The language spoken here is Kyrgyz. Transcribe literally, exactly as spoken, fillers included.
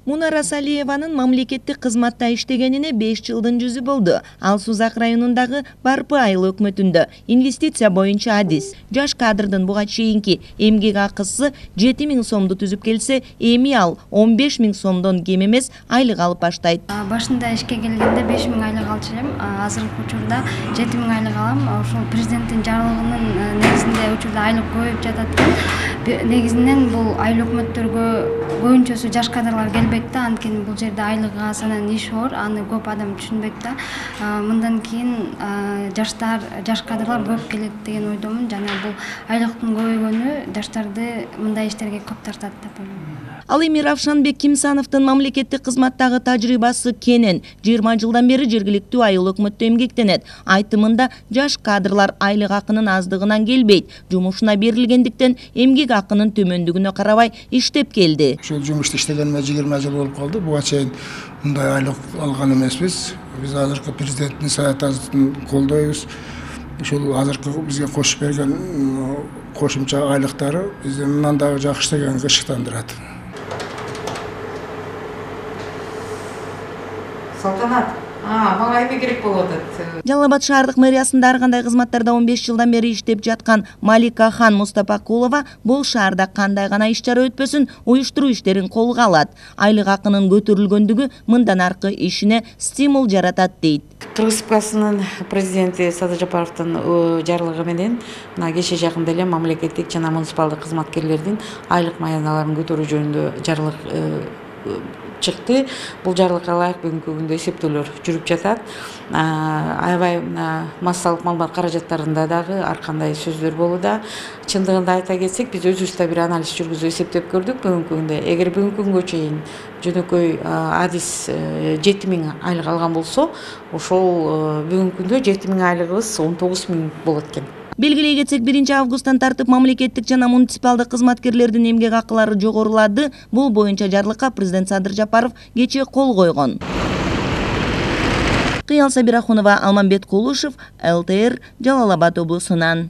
Мунара Салиеванын мамлекеттик кызматта иштегенине беш жылдын жүзү болду. Ал Сузак районундагы Барпы айыл өкмөтүндө инвестиция боюнча адис. Жаш кадрдын буга чейинки эмгек акысы жети миң сомду түзүп келсе, эми ал он беш миң сомдон кем эмес айлык алып баштайт. Башында ишке келгенде беш миң айлык алчу элем, азыркы учурда жети миң айлык алам. Ошол президенттин жарлыгынын негизинде учурда айлык көбөйүп жатат экен. Негизинен бул айыл өкмөттөргө көбүнчөсү жаш кадрлар келбейт да, анткени бул жерде айлыгы аз анан иш оор, аны көп адам түшүнбөйт да. Мындан кийин жаштар, жаш кадрлар көп келет деген ойдомун. Жана бул айлыктын көбөйгөнү жаштарды мындай иштерге көп тартат деп ойлойм. Ал эми Равшанбек Кимсановдун мамлекеттик кызматтагы тажрыйбасы кенен. жыйырма жылдан бери жергиликтүү айыл өкмөттө эмгектенет. Айтымында жаш кадрлар айлык акынын аздыгынан келбейт. Жумушуна берилгендиктен эмгек акынын төмөндүгүнө карабай иштеп келди. Ушул жумушта иштегениме жыйырма жыл болуп калды. Буга чейин мындай айлык алган эмеспиз. Биз азыркы президенттин саясатын колдойбуз. Ушул азыркы бизге кошуп берген кошумча айлыктары бизди мындан дагы жакшы иштегенге ышыктандырат. Салтанат, мага эме керек болуп атат. Жалал Абад шаардык мэриясында ар кандай кызматтарда он беш жылдан бери иштеп жаткан Малика Хан Мустапакулова бул шаарда кандай гана иш чара өтпөсүн уюштуруу иштерин колго алат. Айлык акынын көтөрүлгөндүгү мындан аркы ишине стимул жаратат дейт. Кыргыз президенти Садыр Жапаровдун жарлыгы менен мына кече жакында эле мамлекеттик жана муниципалдык кызматкерлердин айлык маяналарын көтөрүү жөнүндө жарлык чыкты. Бул жарлыкка ылайык бүгүнкү күндө эсептөөлөр жүрүп жатат. Аябай массалык маалымат каражаттарында дагы ар кандай сөздөр болууда. Чындыгында айта кетсек, биз өзүбүз да бир анализ жүргүзүп эсептеп көрдүк бүгүнкү күндө. Эгер бүгүнкү күнгө чейин жөнөкөй адис жети миң айлык алган болсо, ошол бүгүнкү күндө жети миң айлыгыбыз он тогуз миң болот экен. Белгилей кетсек, биринчи августтан тартып мамлекеттик жана муниципалдык кызматкерлердин эмгек акылары жогорулады. Бул боюнча жарлыкка президент Садыр Жапаров кечээ кол койгон. Кыял Сабирахунова, Алмамбет Кулушев, эл тэ эр, Жалал Абад облусунан.